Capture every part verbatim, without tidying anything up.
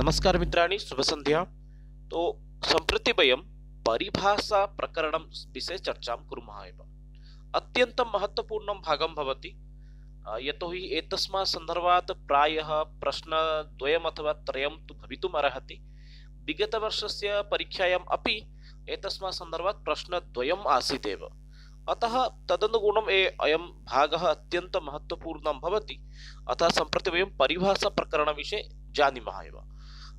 नमस्कार मित्राणि, शुभ संध्या। तो सम्प्रति वयं परिभाषा प्रकरणं विषये चर्चां कुर्मः एव। अत्यन्तं महत्त्वपूर्णं भागं भवति, अ, यतोहि एतस्मात् सन्दर्भात् प्रायः प्रश्नद्वयम् अथवा त्रयं तु भवितुम् अर्हति। विगतवर्षस्य परीक्षायाम् अपि एतस्मात् सन्दर्भात् प्रश्नद्वयम् आसीत् एव। अतः तदनुगुणम् ए अयं भागः अत्यन्तं महत्त्वपूर्णं भवति। अतः सम्प्रति वयं परिभाषा प्रकरणविषये जानीमः एव।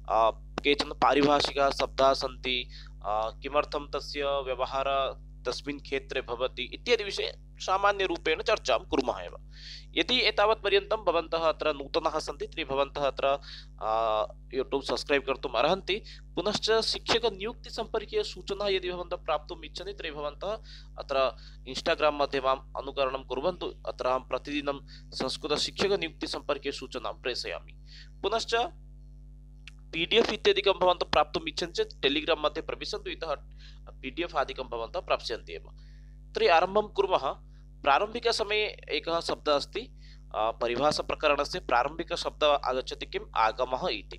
आ, केचन पारिभाषिकाः शब्दाः सन्ति, आ, किमर्थं तस्य व्यवहारः तस्मिन् क्षेत्रे भवति इत्यादि विषये सामान्यरूपेण चर्चां कुर्मः एव। यदि एतावत् पर्यन्तं भवन्तः अत्र नूतनाः सन्ति तर्हि भवन्तः अत्र यूट्यूब् सब्स्क्रैब् कर्तुम् अर्हन्ति। पुनश्च शिक्षकनियुक्तिसम्पर्कीय सूचनाः यदि भवन्तः प्राप्तुम् इच्छन्ति तर्हि भवन्तः अत्र इन्स्टाग्राम् मध्ये माम् अनुकरणं कुर्वन्तु। अत्र अहं प्रतिदिनं संस्कृतशिक्षकनियुक्तिसम्पर्कीय सूचनां प्रेषयामि। पुनश्च पीडीएफ इत्यादिकं भवन्तः प्राप्तुम् इच्छन्ति चेत् टेलिग्राम् मध्ये प्रविशन्तु, इतः पीडीएफ आदिकं भवन्तः प्राप्स्यन्ति एव। तर्हि आरम्भं कुर्मः। प्रारम्भिकसमये एकः शब्दः अस्ति, परिभाषाप्रकरणस्य प्रारम्भिकशब्दः आगच्छति किम्? आगमः इति।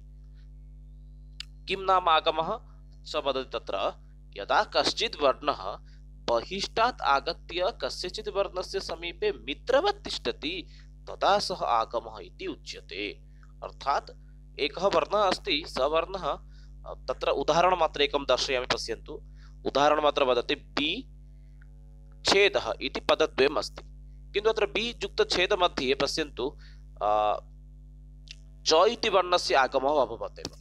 किं नाम आगमः? स वदति तत्र, यदा कश्चित् वर्णः बहिष्टात् आगत्य कस्यचित् वर्णस्य समीपे मित्रवत् तिष्ठति तदा सः आगमः इति उच्यते। अर्थात् एकः वर्णः अस्ति, स वर्णः, तत्र उदाहरणमात्र एकं दर्शयामि, पश्यन्तु। उदाहरणमात्र वदति बि छेदः इति पदद्वयम् अस्ति, किन्तु अत्र बि युक्तछेद मध्ये पश्यन्तु च इति वर्णस्य आगमः अभवत् एव।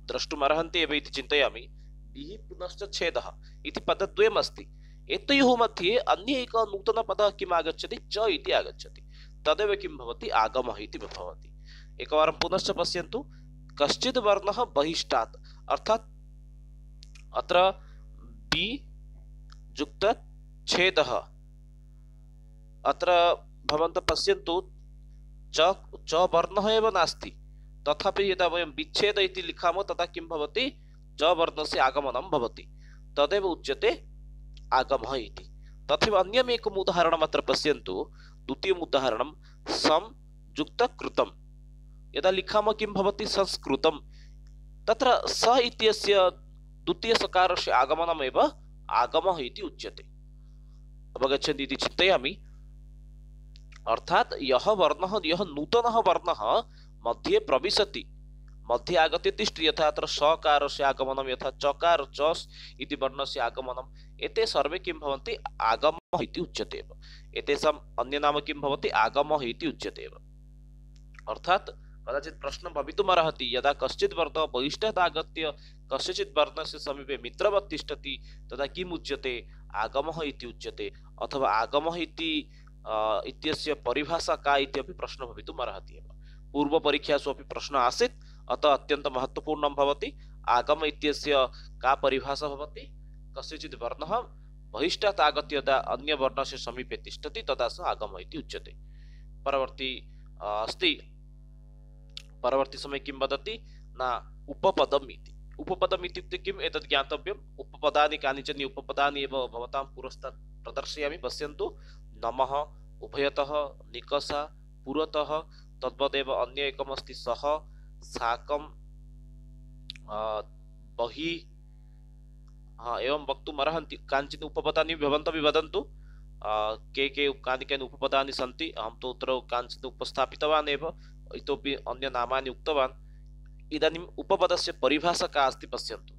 द्रष्टुम् अर्हन्ति एव इति चिन्तयामि। बि पुनश्च छेदः इति पदद्वयम् अस्ति, एतयोः मध्ये अन्य एकः नूतनपदः किम् आगच्छति? च इति आगच्छति। तदेव किं भवति? आगमः इति भवति। एकवारं पुनश्च पश्यन्तु, कश्चित् वर्णः बहिष्टात्, अर्थात् अत्र बि युक्त छेदः, अत्र भवन्तः पश्यन्तु च च वर्णः एव नास्ति, तथापि यदा वयं विच्छेद इति लिखामः तदा किं भवति? च वर्णस्य आगमनं भवति, तदेव उच्यते आगमः इति। तथैव अन्यम् एकम् उदाहरणम् अत्र पश्यन्तु। द्वितीयम् उदाहरणं सं युक्त कृतं, यदा लिखामः किं भवति? संस्कृतं। तत्र स इत्यस्य द्वितीयसकारस्य आगमनमेव आगमः इति उच्यते। अवगच्छन्ति इति चिन्तयामि। अर्थात् यः वर्णः, यः नूतनः वर्णः मध्ये प्रविशति, मध्ये आगत्य तिष्ठति, यथा अत्र सकारस्य आगमनं, यथा चकार च इति वर्णस्य आगमनं, एते सर्वे किं भवन्ति? आगमः इति उच्यते एव। एतेषाम् अन्य नाम किं भवति? आगमः इति उच्यते एव। अर्थात् कदाचित् प्रश्नः भवितुमर्हति, यदा कश्चित् वर्णः बहिष्टात् आगत्य कस्यचित् वर्णस्य समीपे मित्रवत् तिष्ठति तदा किम् उच्यते? आगमः इति उच्यते। अथवा आगमः इति इत्यस्य परिभाषा का इत्यपि प्रश्नः भवितुमर्हति एव। पूर्वपरीक्षासु अपि प्रश्नः आसीत्, अतः अत्यन्तं महत्त्वपूर्णं भवति। आगम इत्यस्य का परिभाषा भवति? कस्यचित् वर्णः बहिष्टात् आगत्य यदा अन्य वर्णस्य समीपे तिष्ठति तदा सः आगमः इति उच्यते। परवर्ती अस्ति, परवर्ती समय किं वदति? न उपपदम् इति। उपपदम् इत्युक्ते किम्? एतत् ज्ञातव्यम्। उपपदानि, कानिचन उपपदानि एव भवतां पुरस्तात् प्रदर्शयामि। पश्यन्तु, नमः, उभयतः, निकषा, पुरतः, तद्वदेव अन्य एकम् अस्ति सः, साकं, बहिः, एवं वक्तुम् अर्हन्ति। कानिचन उपपदानि भवन्तः वदन्तु, के के कानि कानि उपपदानि सन्ति। अहं तु अत्र कानिचित् उपस्थापितवान् एव, इतोपि अन्य नामानि उक्तवान्। इदानीम् उपपदस्य परिभाषा का अस्ति पश्यन्तु।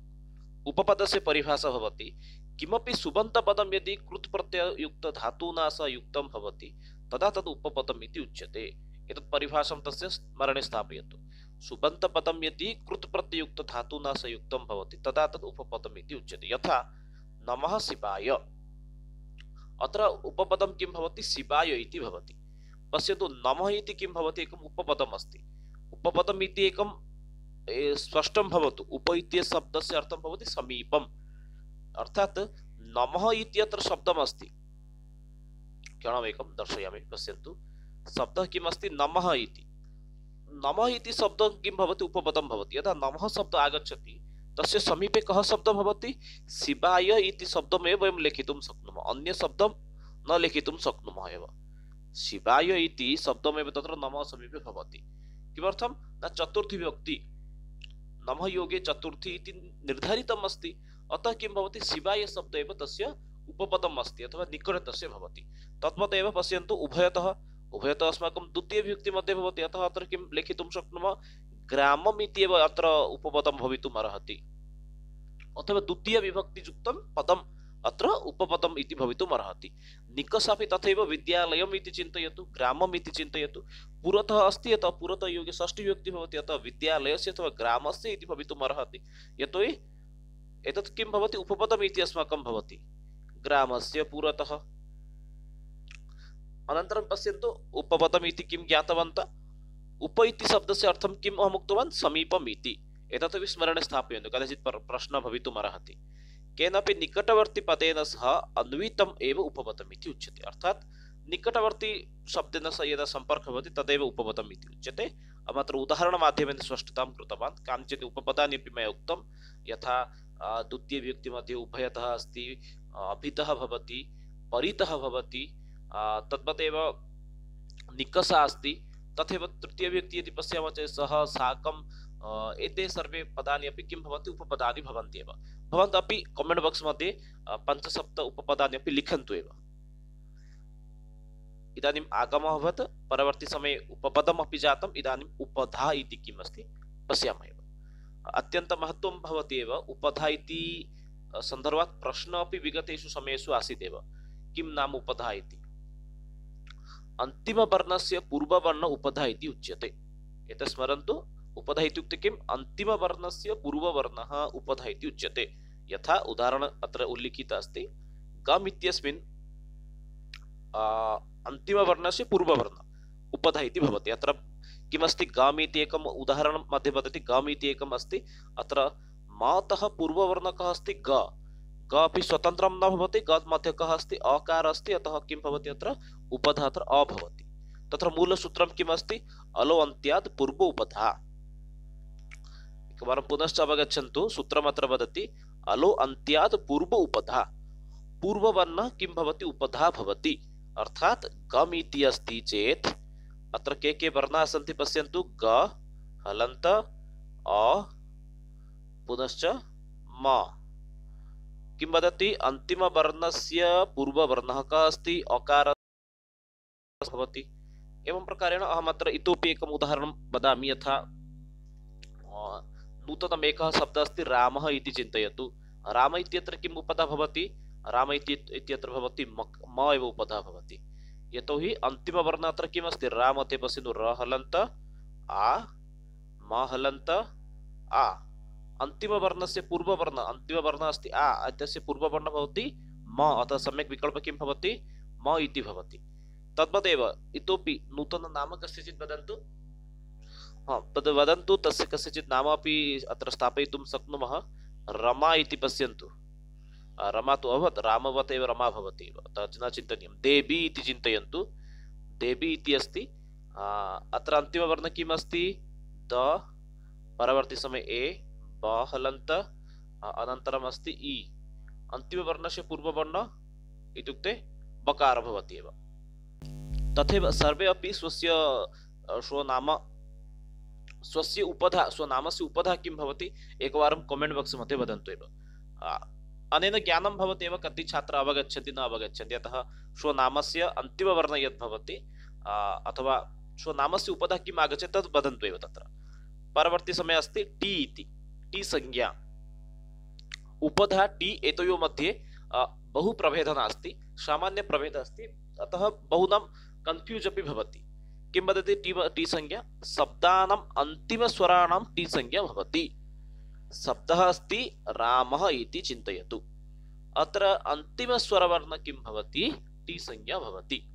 उपपदस्य परिभाषा भवति, किमपि सुबन्तपदं यदि कृत्प्रत्यययुक्त धातुना सह युक्तं भवति तदा तद् उपपदम् इति उच्यते। एतत् परिभाषां तस्य स्मरणे स्थापयतु। सुबन्तपदं यदि कृत्प्रत्यययुक्त धातुना सह युक्तं भवति तदा तद् उपपदम् इति उच्यते। यथा नमः शिवाय, अत्र उपपदं किं भवति? शिवाय इति भवति। पश्यतु, नमः इति किं भवति? एकम् उपपदम् अस्ति। उपपदम् इति एकं स्पष्टं भवतु। उप इत्यस्य शब्दस्य अर्थं भवति समीपम्, अर्थात् नमः इत्यत्र शब्दम् अस्ति। क्षणमेकं दर्शयामि, पश्यन्तु। शब्दः किम् अस्ति? नमः इति। नमः इति शब्दः किं भवति? उपपदं भवति। यदा नमः शब्दः आगच्छति तस्य समीपे कः शब्दः भवति? शिवाय इति शब्दमेव वयं लिखितुं शक्नुमः, अन्य शब्दं न लिखितुं शक्नुमः एव। शिवाय इति शब्दमेव तत्र नमः समीपे भवति। किमर्थं? न चतुर्थी विभक्ति नमः योगे चतुर्थी इति निर्धारितम् अस्ति। अतः किं भवति, शिवाय शब्द एव तस्य उपपदम् अस्ति अथवा निकटतस्य भवति। तद्वदेव पश्यन्तु, उभयतः उभयतः अस्माकं द्वितीय विभक्ति मध्ये भवति। अतः अत्र किं लिखितुं शक्नुमः, ग्रामम् इत्येव अत्र उपपदं भवितुम् अर्हति, अथवा द्वितीय विभक्तियुक्तं पदम् अत्र उपपदम् इति भवितुम् अर्हति। निकषापि तथैव, विद्यालयम् इति चिन्तयतु, ग्रामम् इति चिन्तयतु, पुरतः अस्ति अतः पुरतः योगे षष्ठी विभक्ति भवति, अतः विद्यालयस्य अथवा ग्रामस्य इति भवितुम् अर्हति। यतोहि एतत् किं भवति, उपपदम् इति अस्माकं भवति, ग्रामस्य पुरतः। अनन्तरं पश्यन्तु, उपपदम् इति किं ज्ञातवन्तः। उप इति शब्दस्य अर्थं किम् अहम् उक्तवान्, समीपम् इति। एतदपि स्मरणे स्थापयन्तु, कदाचित् प्रश्नः भवितुम् अर्हति। केनापि निकटवर्ती पदेन सह अन्वितम् एव उपपदम् इति उच्यते। अर्थात् निकटवर्ती शब्देन सह यदा सम्पर्कः भवति तदेव उपपदम् इति उच्यते। अहम् अत्र उदाहरणमाध्यमेन स्पष्टतां कृतवान्। कानिचित् उपपदानि अपि मया उक्तं, यथा द्वितीय विभक्ति मध्ये उभयतः अस्ति, अभितः भवति, परितः भवति, तद्वदेव निकषा अस्ति। तथैव तृतीय विभक्ति यदि पश्यामः चेत् सः, साकं, एते सर्वे पदानि अपि किं भवन्ति, उपपदानि भवन्ति एव। भवन्तः अपि कमेण्ट् बाक्स् मध्ये पञ्चसप्त उपपदानि अपि लिखन्तु एव। इदानीम् आगमः अभवत्, परवर्ती समये उपपदम् अपि जातम्, इदानीम् उपधा इति किम् अस्ति पश्यामः एव। अत्यन्तं महत्त्वं भवति एव। उपधा इति सन्दर्भात् प्रश्नः अपि विगतेषु समयेषु आसीत् एव। किं नाम उपधा इति। अन्तिमवर्णस्य पूर्ववर्ण उपधा इति उच्यते। एतत् स्मरन्तु। उपधा इत्युक्ते किम्, अन्तिमवर्णस्य पूर्ववर्णः उपधा इति उच्यते। यथा उदाहरण अत्र उल्लिखित अस्ति, गम् इत्यस्मिन् अन्तिमवर्णस्य पूर्ववर्ण उपधा इति भवति। अत्र किमस्ति, गम् इति एकम् उदाहरणं मध्ये वदति, गम् इति एकम् अस्ति। अत्र मातः पूर्ववर्णः कः अस्ति, ग। ग अपि स्वतन्त्रं न भवति, ग मध्ये कः अस्ति, अकार अस्ति, अतः किं भवति, अत्र उपधा अत्र अ भवति। तत्र मूलसूत्रं किम् अस्ति, अलो अन्त्यात् पूर्व उपधा। एकवारं पुनश्च अवगच्छन्तु। सूत्रम् अत्र वदति, अलो अन्त्यात् पूर्व उपधा। पूर्ववर्णः किं भवति, उपधा भवति। अर्थात् गम् इति अस्ति चेत् अत्र के के वर्णाः सन्ति पश्यन्तु, ग, हलन्त, अ, पुनश्च म। किं वदति, अन्तिमवर्णस्य पूर्ववर्णः कः अस्ति, अकार भवति। एवं प्रकारेण अहम् अत्र इतोपि एकम् उदाहरणं वदामि। यथा नूतनम् एकः शब्दः अस्ति, रामः इति चिन्तयतु। राम इत्यत्र किम् उपधा भवति, राम इत्यत्र भवति म एव उपधा भवति। यतोहि अन्तिमवर्णः अत्र किम् अस्ति, रा मध्ये पश्यन्तु, र हलन्त, आ, म हलन्त, आ। अन्तिमवर्णस्य पूर्ववर्णः, अन्तिमवर्णः अस्ति आ, तस्य पूर्ववर्णः भवति म, अतः सम्यक् विकल्पः किं भवति, म इति भवति। तद्वदेव इतोपि नूतनं नाम कस्यचित् वदन्तु। हाँ, तद् वदन्तु, तस्य कस्यचित् नाम अपि अत्र स्थापयितुं शक्नुमः। रमा इति पश्यन्तु। रमा तु अभवत्, रामवत् एव रमा भवति एव, अतः न चिन्तनीयं। देवी इति चिन्तयन्तु। देवी इति अस्ति। अत्र अन्तिमवर्णः किम् अस्ति, द, परवर्ती समये ए, ब हलन्त, अनन्तरम् अस्ति इ। अन्तिमवर्णस्य पूर्ववर्णः इत्युक्ते बकार भवति एव। तथैव सर्वे अपि स्वस्य स्वनाम, स्वस्य उपधा, स्वनामस्य उपधा किं भवति, एकवारं कमेण्ट् बाक्स् मध्ये वदन्तु एव। अनेन ज्ञानं भवति एव, कति छात्राः अवगच्छन्ति, न अवगच्छन्ति। अतः स्वनामस्य अन्तिमवर्णः यद् भवति अथवा स्वनामस्य उपधा किम् आगच्छति तद् वदन्तु एव। तत्र परवर्ती समये अस्ति टी इति, टी संज्ञा, उपधा टी। एतयोः मध्ये बहु प्रभेदः नास्ति, सामान्य प्रभेदः अस्ति, अतः बहुनां कन्फ्यूस् अपि भवति। किं वदति टी, टी संज्ञा, शब्दानाम् अन्तिमस्वराणां टी संज्ञा भवति। शब्दः अस्ति रामः इति चिन्तयतु। अत्र अन्तिमस्वरवर्णः किं भवति, टी संज्ञा भवति।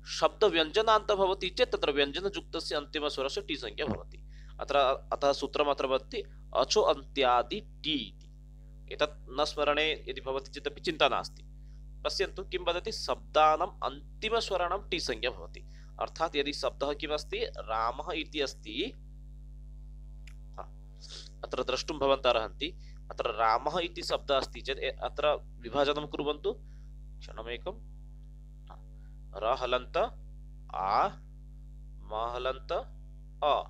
शब्द व्यञ्जनान्त भवति चेत् तत्र व्यञ्जनयुक्तस्य अन्तिमस्वरस्य टी संज्ञा भवति। अत्र अतः सूत्रम् अत्र वदति, अचो अन्त्यादि टी इति। एतत् न स्मरणे यदि भवति चेत् अपि चिन्ता नास्ति। पश्यन्तु किं वदति, शब्दानाम् अन्तिमस्वराणां टी संज्ञा भवति। अर्थात् यदि शब्दः किमस्ति, रामः इति अस्ति, अत्र द्रष्टुं भवन्तः अर्हन्ति। अत्र रामः इति शब्दः अस्ति चेत् अत्र विभाजनं कुर्वन्तु। क्षणमेकं। र हलन्त, आ, म हलन्त, अ।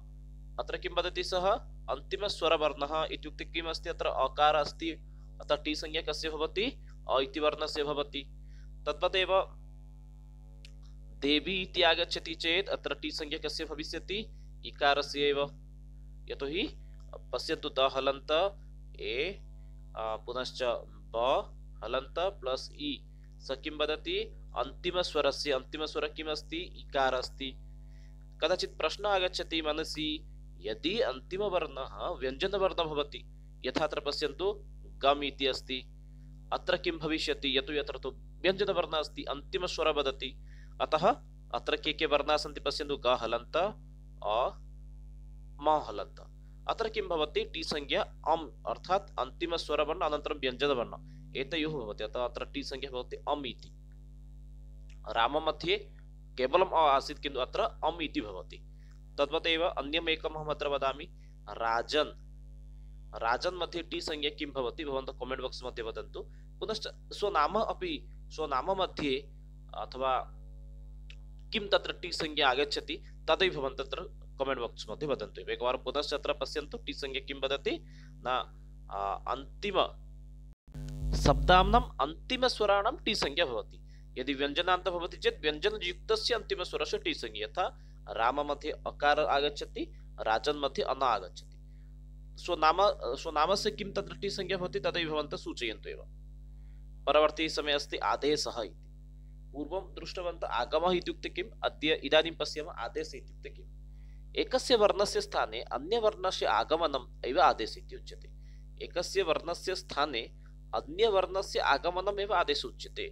अत्र किं वदति सः, अन्तिमस्वरवर्णः इत्युक्ते किम् अस्ति अत्र अकार अस्ति अतः टी संज्ञा कस्य भवति अ इति वर्णस्य भवति तद्वदेव देवी इति आगच्छति चेत् अत्र टी संज्ञा कस्य भविष्यति इकारस्य एव यतोहि पश्यन्तु द हलन्त ए पुनश्च ब हलन्त प्लस इ स किं वदति अन्तिमस्वरस्य अन्तिमस्वर किम् अस्ति इकार अस्ति कदाचित् प्रश्नः आगच्छति मनसि यदि अन्तिमवर्णः व्यञ्जनवर्णः भवति यथा अत्र पश्यन्तु गम् इति अस्ति अत्र किं भविष्यति यतो यत्र तु व्यञ्जनवर्णः अस्ति अन्तिमस्वर वदति अतः अत्र के के वर्णाः सन्ति पश्यन्तु ग हलन्त अ म हलन्त अत्र किं भवति टी संज्ञा अम् अर्थात् अन्तिमस्वरवर्ण अनन्तरं व्यञ्जनवर्ण एतयोः भवति अतः अत्र टी संज्ञा भवति अम् इति राम मध्ये केवलम् अ आसीत् किन्तु अत्र अम् इति भवति तद्वत् एव अन्यम् एकम् अहम् अत्र वदामि राजन् राजन् मध्ये टी संज्ञा किं भवति भवन्तः कमेण्ट् बाक्स् मध्ये वदन्तु पुनश्च स्वनाम अपि स्वनाम मध्ये अथवा किं तत्र टी संज्ञा आगच्छति तदैव भवन्तः तत्र कमेण्ट् बाक्स् मध्ये वदन्तु एकवारं पुनश्च अत्र पश्यन्तु टी संज्ञा किं वदति न अन्तिम शब्दानाम् अन्तिमस्वराणां टी संज्ञा भवति यदि व्यञ्जनान्त भवति चेत् व्यञ्जनयुक्तस्य अन्तिमस्वरस्य टी संज्ञा यथा राम मध्ये अकार आगच्छति राजन् मध्ये अन आगच्छति स्वनाम स्वनामस्य किं तत्र टी संज्ञा भवति तदैव भवन्तः सूचयन्तु एव परवर्ती समये अस्ति आदेशः इति पूर्वं दृष्टवन्तः आगमः इत्युक्ते किम् अद्य इदानीं पश्यामः आदेशः इत्युक्ते किम् एकस्य वर्णस्य स्थाने अन्यवर्णस्य आगमनम् एव आदेशः इति उच्यते एकस्य वर्णस्य स्थाने अन्यवर्णस्य आगमनम् एव आदेशः उच्यते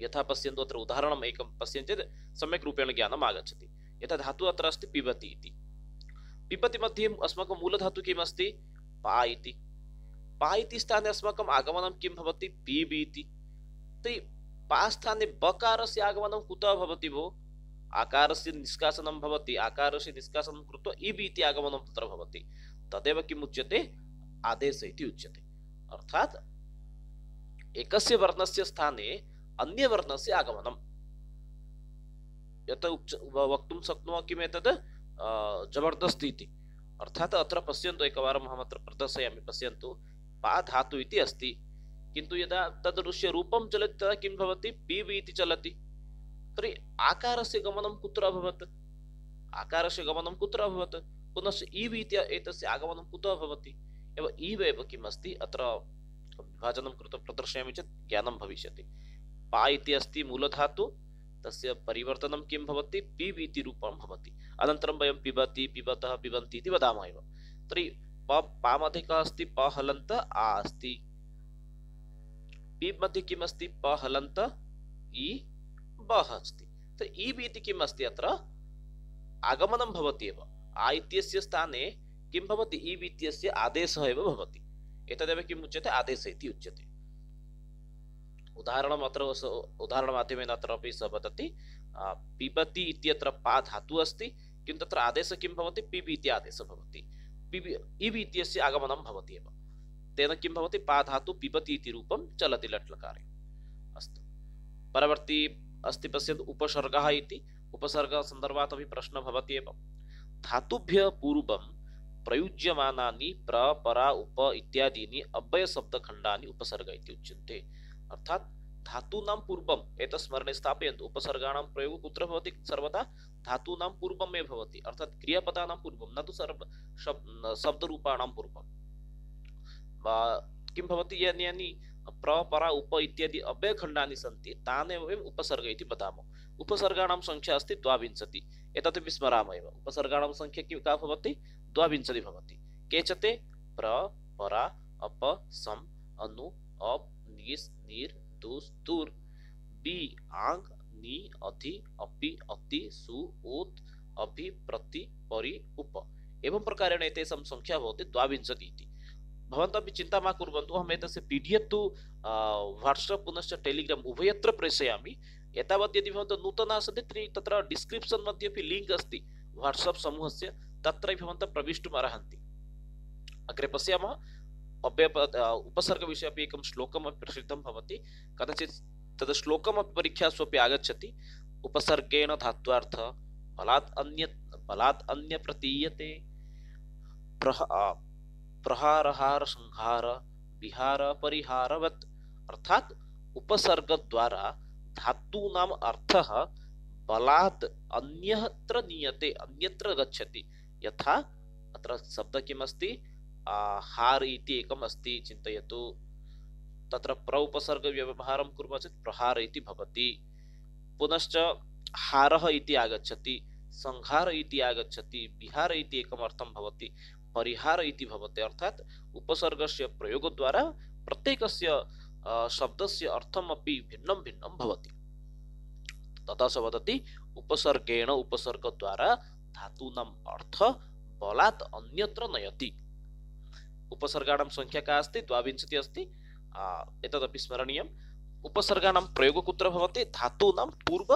यथा पश्यन्तु अत्र उदाहरणम् एकं पश्यन्ति चेत् सम्यक् रूपेण ज्ञानम् आगच्छति यथा धातुः अत्र अस्ति पिबति इति पिबति मध्ये अस्माकं मूलधातुः किम् अस्ति पा इति पा इति स्थाने अस्माकम् आगमनं किं भवति पीब् इति तर्हि पा स्थाने बकारस्य आगमनं कुतः भवति भो आकारस्य निष्कासनं भवति आकारस्य निष्कासनं कृत्वा इब् इति आगमनं तत्र भवति तदेव किम् उच्यते आदेशः इति उच्यते अर्थात् एकस्य वर्णस्य स्थाने अन्यवर्णस्य आगमनं यत् वक्तुं शक्नुमः किम् एतत् जबर्दस्ति इति अर्थात् अत्र पश्यन्तु एकवारम् अहम् अत्र प्रदर्शयामि पश्यन्तु पा धातु इति अस्ति किन्तु यदा तदृश्य रूपं चलति तदा किं भवति पीब् इति चलति तर्हि आकारस्य गमनं कुत्र अभवत् आकारस्य गमनं कुत्र अभवत् पुनश्च इब् इति एतस्य आगमनं कुतः भवति एव इब् एव किम् अस्ति अत्र विभाजनं कृत्वा प्रदर्शयामि चेत् ज्ञानं भविष्यति पा इति अस्ति मूलधातु तस्य परिवर्तनं किं भवति पीब् इति रूपं भवति अनन्तरं वयं पिबति पिबतः पिबन्ति इति वदामः एव तर्हि प पा मध्ये कः अस्ति प हलन्त आ अस्ति पीब् मध्ये किम् अस्ति प हलन्त इ बः अस्ति तर्हि इब् इति किम् अस्ति अत्र आगमनं भवति एव आ इत्यस्य स्थाने किं भवति इब् इत्यस्य आदेशः एव भवति एतदेव किम् उच्यते आदेशः इति उच्यते उदाहरणम् अत्र उदाहरणमाध्यमेन अत्र अपि सः वदति पिबति इत्यत्र पा धातुः अस्ति किन्तु तत्र आदेशः किं भवति पिब् इति आदेशः भवति पिब् इब् इत्यस्य आगमनं भवति एव तेन किं भवति पा धातु पिबति इति रूपं चलति लट्लकारे अस्तु परवर्ती अस्ति पश्यन्तु उपसर्गः इति उपसर्गः सन्दर्भात् अपि प्रश्नः भवति एव धातुभ्यः पूर्वं प्रयुज्यमानानि प्र परा उप इत्यादीनि अव्ययशब्दखण्डानि उपसर्ग इति उच्यन्ते अर्थात् धातूनां पूर्वम् एतत् स्मरणे स्थापयन्तु उपसर्गाणां प्रयोगः कुत्र भवति सर्वदा धातूनां पूर्वमेव भवति अर्थात् क्रियापदानां पूर्वं न तु सर्व शब्दरूपाणां पूर्वं किं भवति यानि यानि प्र परा उप इत्यादि अव्ययखण्डानि सन्ति तानेव वयम् उपसर्ग इति वदामः उपसर्गाणां संख्या अस्ति द्वाविंशतिः एतत् विस्मरामः एव उपसर्गाणां संख्या किं का भवति द्वाविंशतिः भवति केचते प्र परा अप सम अनु अप निस् निर दुस् दुर् बि आङ् नि अधि अपि अति सु उत् अभि प्रति परि उप एवं प्रकारेण एतेषां संख्या भवति द्वाविंशतिः इति भवन्तः अपि चिन्ता मा कुर्वन्तु अहम् एतस्य पीडीएफ तु वाट्सप् पुनश्च टेलिग्राम उभयत्र प्रेषयामि एतावत् यदि भवन्तः नूतनाः सन्ति तर्हि तत्र डिस्क्रिप्शन् मध्ये अपि लिङ्क् अस्ति वाट्सप् समूहस्य तत्र भवन्तः प्रवेष्टुम् अर्हन्ति अग्रे पश्यामः अव्यय उपसर्गविषये अपि एकं श्लोकम् अपि प्रसिद्धं भवति कदाचित् तद् श्लोकमपि परीक्षासु अपि आगच्छति उपसर्गेण धात्वार्थः बलात् अन्य बलात् अन्य प्रतीयते प्रह प्रहारहार संहार विहार परिहारवत् अर्थात उपसर्ग द्वारा धातूनाम अर्थः बलात् अन्यत्र नीयते अन्यत्र गच्छति। यथा अत्र शब्द किमस्ति हार इति एकम् अस्ति चिन्तयतु, तत्र प्र उपसर्ग व्यवहारं कुर्मः चेत् प्रहार इति भवति। पुनश्च हारः इति आगच्छति, संहार इति आगच्छति, विहार इति एकम् अर्थं भवति, परिहार इति भवति। अर्थात उपसर्गस्य प्रयोगद्वारा प्रत्येकस्य शब्दस्य अर्थमपि भिन्नं भिन्नं भवति। तथा स वदति उपसर्गेण उपसर्गद्वारा धातूनाम् अर्थ बलात् अन्यत्र नयति। उपसर्गाणां संख्या का अस्ति द्वाविंशतिः अस्ति। एतदपि स्मरणीयम्। उपसर्गाणां प्रयोगो कुत्र भवति? धातूनां पूर्व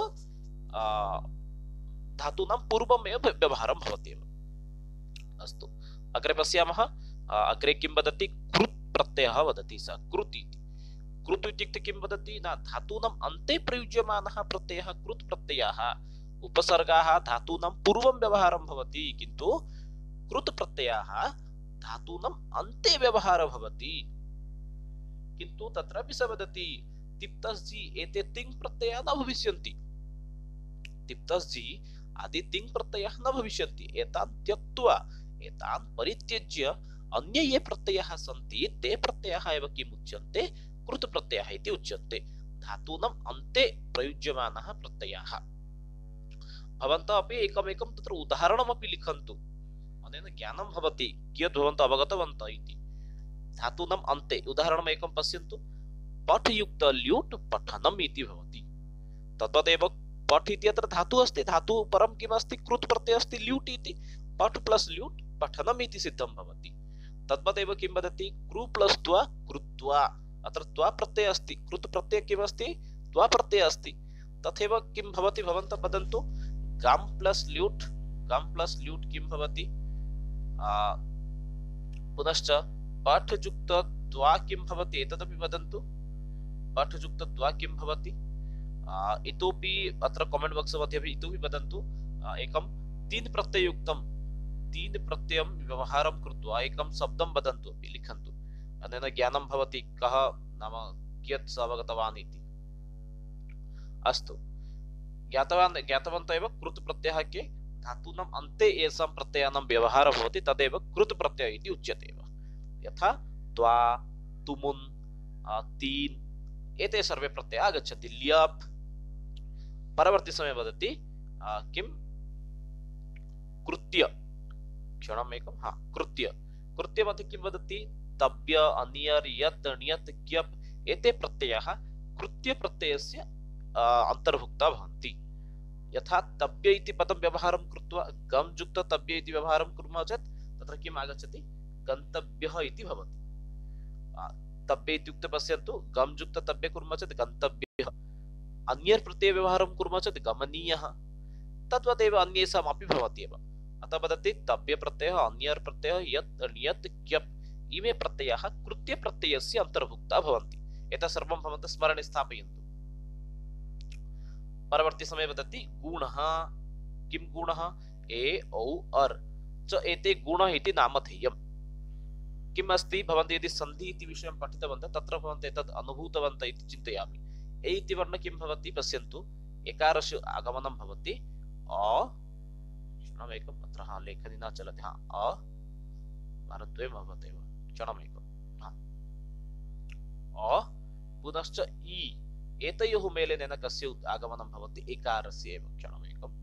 धातूनां पूर्वमेव व्यवहारं भवति एव। अस्तु, अग्रे पश्यामः। अग्रे किं वदति? कृत् प्रत्ययः वदति स। कृत् इति कृत् इत्युक्ते किं वदति? न धातूनाम् अन्ते प्रयुज्यमानः प्रत्ययः कृत् प्रत्ययः। उपसर्गाः धातूनां पूर्वं व्यवहारं भवति, किन्तु कृत् प्रत्ययः धातूनाम् अन्ते व्यवहारः भवति। किन्तु तत्रापि स वदति तिप्तस्जि एते तिङ् प्रत्ययाः न भविष्यन्ति। तिप्तस्जि आदि तिङ् प्रत्ययाः न भविष्यन्ति। एतान् त्यक्त्वा एतान् परित्यज्य अन्ये ये प्रत्ययाः सन्ति ते प्रत्ययाः एव किम् उच्यन्ते? कृत् प्रत्ययाः इति उच्यन्ते। धातूनाम् अन्ते प्रयुज्यमानः प्रत्ययाः। भवन्तः अपि एकमेकं तत्र उदाहरणमपि लिखन्तु, अनेन ज्ञानं भवति कियत् भवन्तः अवगतवन्तः इति। धातूनाम् अन्ते उदाहरणम् एकं पश्यन्तु। पठ युक्त ल्यूट् पठनम् इति भवति। तद्वदेव पठ इति अत्र धातुः अस्ति, धातुः परं किम् अस्ति? कृत् प्रत्ययः अस्ति ल्यूट् इति। पठ प्लस् ल्यूट् पठनम् इति सिद्धं भवति। तद्वदेव किं वदति? कृ प्लस् त्वा कृत्वा। अत्र त्वा प्रत्ययः अस्ति, कृत् प्रत्ययः किम् अस्ति? त्वा प्रत्ययः अस्ति। तथैव किं भवति भवन्तः वदन्तु? गम् प्लस् ल्यूट्, गम् प्लस् ल्यूट् किं भवति? पुनश्च पाठयुक्त द्वा किं भवति? एतदपि वदन्तु। पाठयुक्त द्वा किं भवति? इतोपि अत्र कमेंट बॉक्स मध्ये अपि इतोपि वदन्तु। एकं तीन प्रत्ययुक्तं तीन प्रत्ययं व्यवहारं कृत्वा एकं शब्दं वदन्तु, अपि लिखन्तु। अनेन ज्ञानं भवति कः नाम कियत् अवगतवान् इति। अस्तु, ज्ञातवान् ज्ञातवन्तः एव कृत् प्रत्ययः के? धातूनाम् अन्ते येषां प्रत्ययानां व्यवहारः भवति तदेव कृत् प्रत्ययः इति उच्यते एव। यथा त्वा, तुमुन्, तीन् एते सर्वे प्रत्ययाः आगच्छन्ति। ल्यप् परवर्ती समये वदति किं? कृत्य। क्षणम् एकं। हा, कृत्य। कृत्य मध्ये किं वदति? तब्य, अनियर्, यत्, ण्यत्, क्यप् एते प्रत्ययाः कृत्य प्रत्ययस्य अन्तर्भुक्ता भवन्ति। यथा तब्य इति पदं व्यवहारं कृत्वा गम् युक्त तब्य इति व्यवहारं कुर्मः चेत् तत्र किम् आगच्छति? गन्तव्यः इति भवति। तब्य इत्युक्ते पश्यन्तु, गम् युक्त तब्य कुर्मः चेत् गन्तव्यः। अन्यर् प्रत्यय व्यवहारं कुर्मः चेत् गमनीयः। तद्वदेव अन्येषाम् अपि भवति एव। अतः वदति तब्य प्रत्ययः, अन्यर् प्रत्ययः, यत्, ण्यत्, क्यप् इमे प्रत्ययाः कृत्य प्रत्ययस्य अन्तर्भुक्ता भवन्ति। एतत् सर्वं भवन्तः स्मरणे स्थापयन्तु। परवर्ती समये वदति गुणः। किं गुणः? ए, औ, अर् च एते गुणः इति नामधेयम्। किम् अस्ति? भवन्तः यदि सन्धि इति विषयं पठितवन्तः तत्र भवन्तः एतद् अनुभूतवन्तः इति चिन्तयामि। ए इति वर्ण किं भवति? पश्यन्तु, एकारस्य आगमनं भवति अ। क्षणमेकम्, अत्र हा लेखनी न चलति। हा, अ वारद्वयं भवत्येव। क्षणमेकं। हा, अ पुनश्च इ एतयोः मेलनेन कस्य आगमनं भवति? एकारस्य एव। क्षणमेकम्,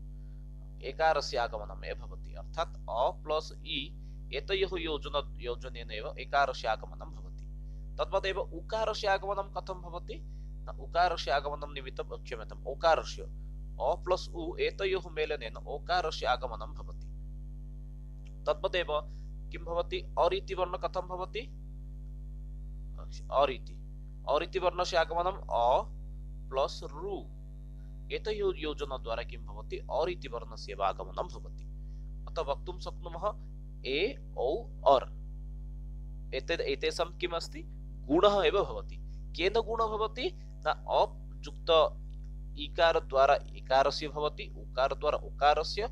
एकारस्य आगमनम् एव भवति। अर्थात् अ प्लस् इ एतयोः योजन योजनेन एव एकारस्य आगमनं भवति। तद्वदेव उकारस्य आगमनं कथं भवति? उकारस्य आगमनं निमित्तं क्षम्यताम् ओकारस्य अ प्लस् उ एतयोः मेलनेन ओकारस्य आगमनं भवति। तद्वदेव किं भवति? अर् इति वर्ण कथं भवति? अर् इति अर् इति वर्णस्य आगमनं अ प्लस् रु एतयोः योजनद्वारा किं भवति? अर् इति वर्णस्य एव आगमनं भवति। अतः वक्तुं शक्नुमः ए, औ, अर् एते एतेषां किम् अस्ति? गुणः एव भवति। केन गुणः भवति? न अ युक्त इकार द्वारा इकारस्य भवति, उकार द्वारा उकारस्य,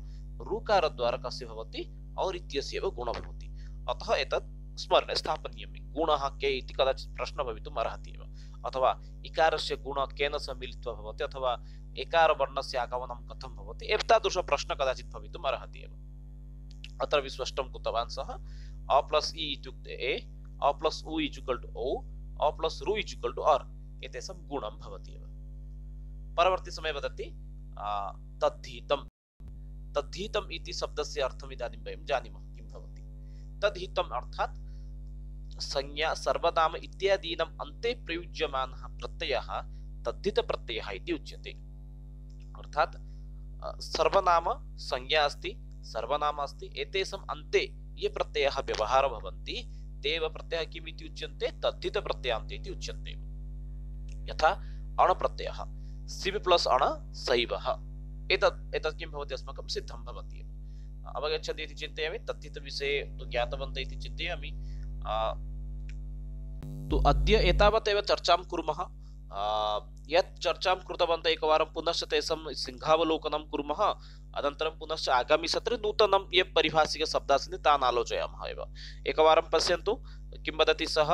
ऋकार द्वारा कस्य भवति? अर् इत्यस्य एव गुणः भवति। अतः एतत् स्मरणे स्थापनीयम्। गुणः के इति कदाचित् प्रश्नः भवितुम् अर्हति एव, अथवा इकारस्य गुणः केन सह मिलित्वा भवति, अथवा एकारवर्णस्य आगमनं कथं भवति, एतादृशः प्रश्नः कदाचित् भवितुम् अर्हति एव। अत्र विस्पष्टं कृतवान् सः। अ प्लस् इ इत्युक्ते ए, अ प्लस् उ इक्वल् टु ओ, अ प्लस् रु इक्वल् टु अर्, एतेषां गुणं भवति एव। परवर्ती समये वदति तद्धितं। तद्धितम् इति शब्दस्य अर्थम् इदानीं वयं जानीमः किं भवति। तद्धितम् अर्थात् संज्ञा सर्वनाम इत्यादीनाम् अन्ते प्रयुज्यमानः प्रत्ययः तद्धितप्रत्ययः इति उच्यते। अर्थात् सर्वनाम संज्ञा अस्ति, सर्वनाम अस्ति, एतेषाम् अन्ते ये प्रत्ययाः व्यवहारः भवन्ति तेव प्रत्ययः किम् इति उच्यन्ते, तद्धितप्रत्ययान्ते इति उच्यन्ते। यथा अण प्रत्ययः, सिब् प्लस् अण सैवः, एतत् एतत् किं भवति, अस्माकं सिद्धं भवति एव। अवगच्छन्ति इति चिन्तयामि। तद्धितविषये तु ज्ञातवन्तः इति चिन्तयामि। तु अद्य एतावत् एव चर्चां कुर्मः। यत् चर्चां कृतवन्तः एकवारं पुनश्च तेषां सिंहावलोकनं कुर्मः। अनन्तरं पुनश्च आगामि सत्रे नूतनं ये परिभाषिकशब्दाः सन्ति तान् आलोचयामः एव। एकवारं पश्यन्तु किं वदति सः।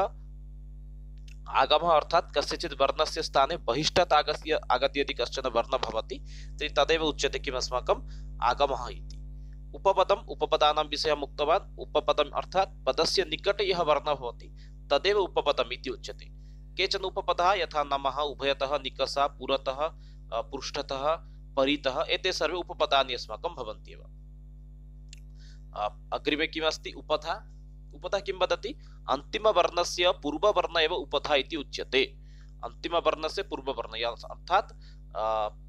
आगमः अर्थात् कस्यचित् वर्णस्य स्थाने बहिष्टात् आगत्य आगत्य यदि कश्चन वर्णः भवति तर्हि तदेव उच्यते किम्, अस्माकम् आगमः इति। उपपदम्, उपपदानां विषयम् उक्तवान्। उपपदम् अर्थात् पदस्य निकटे यः वर्णः भवति तदेव उपपदम् इति उच्यते। केचन उपपदाः यथा नमः, उभयतः, निकषा, पुरतः, पृष्ठतः, परितः, एते सर्वे उपपदानि अस्माकं भवन्ति एव। अग्रिमे किमस्ति, उपधा। उपधा किं वदति, अन्तिमवर्णस्य पूर्ववर्ण एव उपधा इति उच्यते। अन्तिमवर्णस्य पूर्ववर्ण अर्थात्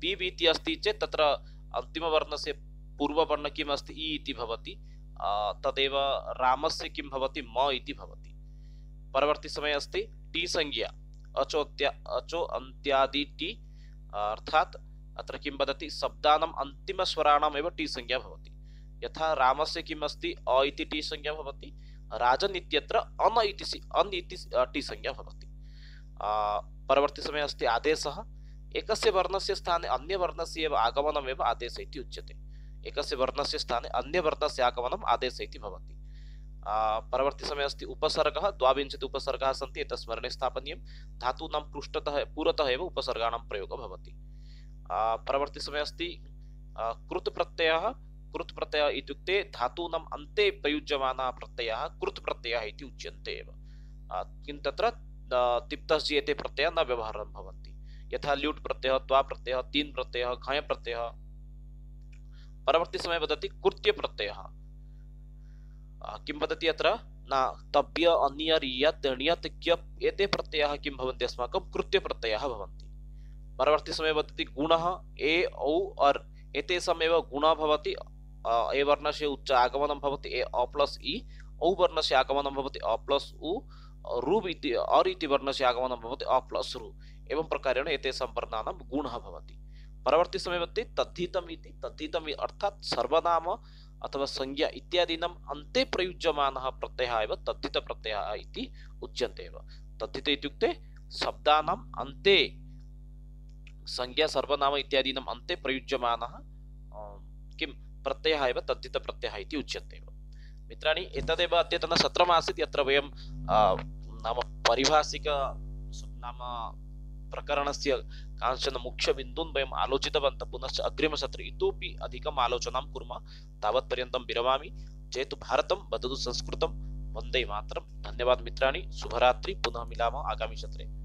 पीव् इति अस्ति चेत् तत्र अन्तिमवर्णस्य पूर्ववर्ण किम् अस्ति, इ इति भवति। तदेव रामस्य किं भवति, म इति भवति। परवर्ती समये अस्ति टी संज्ञा, अचोत्या अचो अन्त्यादि टी, अर्थात् अत्र किं वदति, शब्दानाम् अन्तिमस्वराणाम् एव टी संज्ञा भवति। यथा रामस्य किम् अस्ति, अ इति टी संज्ञा भवति। राजन् इत्यत्र अन इति अन् इति टी संज्ञा भवति। परवर्ती समये अस्ति आदेशः। एकस्य वर्णस्य स्थाने अन्य वर्णस्य एव आगमनम् एव आदेशः इति उच्यते। एकस्य वर्णस्य स्थाने अन्य वर्णस्य आगमनम् आदेशः इति भवति। परवर्ती समये अस्ति उपसर्गः। द्वाविंशति उपसर्गाः सन्ति, एतत् स्मरणे स्थापनीयं। धातूनां पृष्ठतः पुरतः एव उपसर्गाणां प्रयोगः भवति। परवर्ती समये अस्ति कृत् प्रत्ययः। कृत् प्रत्ययः इत्युक्ते धातूनाम् अन्ते प्रयुज्यमानः प्रत्ययः कृत् प्रत्ययः इति उच्यन्ते एव। किन्तु तत्र तिप्तस्य एते प्रत्ययाः न व्यवहारं भवन्ति। यथा ल्यूट् प्रत्ययः, त्वा प्रत्ययः, तीन् प्रत्ययः, घञ् प्रत्ययः। परवर्ती समये वदति कृत्य प्रत्ययः। किं वदति अत्र, न तभ्य, अन्यर्, यत्, ण्यत्, क्यप्, एते प्रत्ययाः किं भवन्ति, अस्माकं कृत्य प्रत्ययाः भवन्ति। परवर्ती समये वदति गुणः। ए, औ, अर्, एतेषामेव गुणः भवति। ए वर्णस्य उच्च आगमनं भवति ए अ प्लस् इ, औ वर्णस्य आगमनं भवति अ प्लस् उ, रुब् इति अर् इति वर्णस्य आगमनं भवति अ प्लस् रु। एवं प्रकारेण एतेषां वर्णानां गुणः भवति। परवर्ती समये वदति तद्धितम् इति। तद्धितम् अर्थात् सर्वनाम अथवा संज्ञा इत्यादीनाम् अन्ते प्रयुज्यमानः प्रत्ययः एव तद्धितप्रत्ययः इति उच्यन्ते एव। तद्धित इत्युक्ते शब्दानाम् अन्ते संज्ञा सर्वनाम इत्यादीनाम् अन्ते प्रयुज्यमानः किं प्रत्ययः एव तद्धितप्रत्ययः इति उच्यन्ते एव। मित्राणि, एतदेव अद्यतन सत्रमासीत्, यत्र वयं नाम पारिभाषिक नाम प्रकरणस्य कांश्चन मुख्यबिन्दून् वयम् आलोचितवन्तः। पुनश्च अग्रिमसत्रे इतोपि अधिकम् आलोचनां कुर्मः। तावत्पर्यन्तं विरमामि। जयतु भारतं, वदतु संस्कृतं, वन्दे मातरम्। धन्यवाद मित्राणि, शुभरात्रि। पुनः मिलामः आगामि सत्रे।